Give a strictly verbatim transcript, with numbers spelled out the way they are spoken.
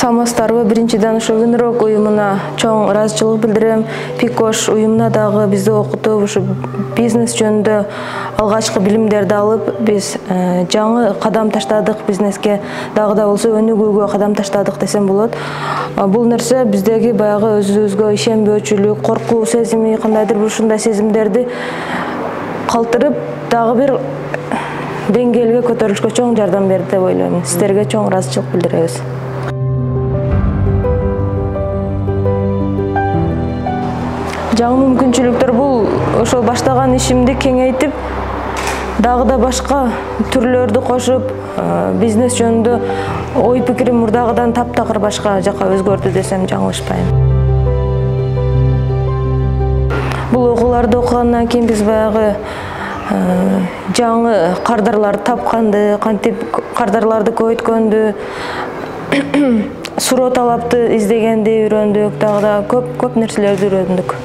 Саламатсыздарбы? Биринчиден ошо Үнрок уюмуна чоң ыраазычылык билдирем. Пикош уюмуна дагы бизди окутуп, ушу бизнес жөнүндө алгачкы билимдерди алып, биз жаңы кадам таштадык, бизнеске дагы да болсо өнүгүүгө кадам таштадык десем болот. Бул нерсе биздеги баягы өзүбүзгө ишенбөөчүлүк, коркуу сезими, кандайдыр бир ушундай сезимдерди калтырып, дагы бир деңгээлге көтөрүлүшкө чоң жардам берди деп ойлойм. Сиздерге чоң ыраазычылык билдиребиз. Жаңы мүмкүнчүлүктөр бул ошол баштаган ишимди кеңейтип, дагы да башка түрлөрдү кошуп, бизнес жөнүндө ой пикирим мурдагыдан таптакыр башка жака өзгөрдү десем жаңылышпайм. Бул окууларды окугандан кийин биз баягы жаңы кардарларды тапканды, кантип кардарларды көбөйткөндү, суроо талапты издегенди үйрөндүк, дагы да көп көп нерселерди үйрөндүк.